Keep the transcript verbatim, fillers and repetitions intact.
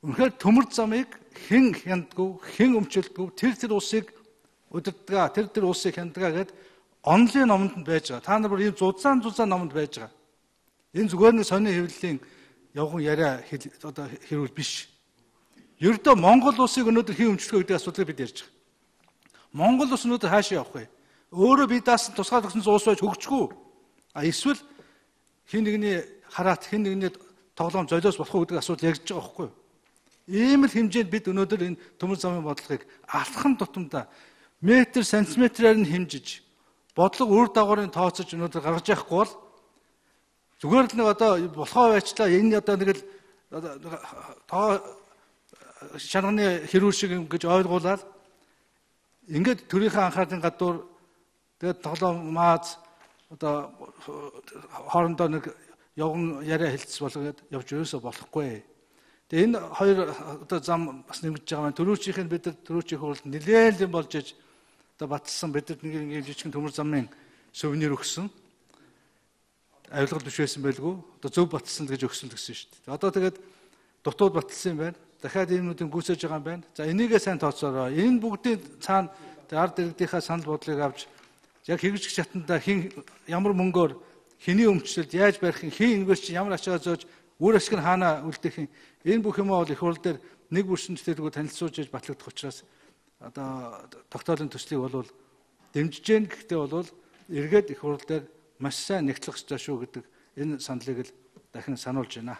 Үнэхээр төмөр замыг хэн хяндгүй, хэн өмчлөдгүй, тэр тэр улсыг удирдгаа, тэр тэр улсыг хяндгаа гэд онлын номонд байж байгаа. Та нар бүр ийм зузаан зузаан номонд байж байгаа. Энэ зүгээр нэг сони хэвлэлийн явган яриа одоо хэрүүл биш. Ердөө Монгол улсыг өнөөдөр хэн өмчлөх гэдэг асуудлыг бид ярьж байгаа. Монгол улс өнөөдөр хаашаа явах вэ? Өөрөө бие даасан тусгай тогсон улс байж хөгжихгүй. А эсвэл хин нэгний хараат, хин нэгний тоглоом золиос болох уу гэдэг асуудал ярьж байгаа байхгүй юу? Ийм л хэмжээнд бид өнөөдөр энэ төмөр замын бодлогыг алхам тутамдаа метр, сантиметрээр нь хэмжиж, бодлого үр дагаврын тооцож өнөөдөр гаргаж явахгүй бол зүгээр л нэг одоо болохоо байчлаа энэ одоо нэг л тоо шарганы хэрүүл шиг гэж ойлгуулаад ингээд төрийнхээ анхаарлын гадуур тэгээд тоглоом мааз одоо хоорондоо нэг явган яриа хэлцс болгоод явж ерөөсө болохгүй. Тэгээ энэ хоёр одоо зам бас нэмэгдэж байгаа маань төрөөчийнх нь бид нар төрөөчийн хуралд нэлээд юм болж иж одоо батлсан бид нар нэг нэг жижигхэн төмөр замын сувенир өгсөн. Авилгал биш байсан байлгүй. Одоо зөв батлсан гэж өгсөн гэсэн шүү дээ. Одоо тэгээд дутууд батлсан юм байна. Дахиад юмнуудыг гүйцээж байгаа юм байна. За энийгээ сайн тооцоороо. Энэ бүгдийн цаана ард иргэдийнхаа санал бодлыг авч яг хэрэгжих шатанда хин ямар мөнгөөр хэний өмчлөлд яаж барих, хин инвестч ямар ачаа зөөж үр ашиг нь хаана үлдэх юм. Энэ бүх юм бол их хурл дээр нэг бүршин төлөвлөгөө танилцуулж иж батлагдах учраас одоо тогтоолын төслийг бол дэмжиж гэн гэхдээ бол эргээд их хурл дээр маш сайн нэгтлэх ёстой шүү гэдэг энэ саналыг л дахин сануулж байна.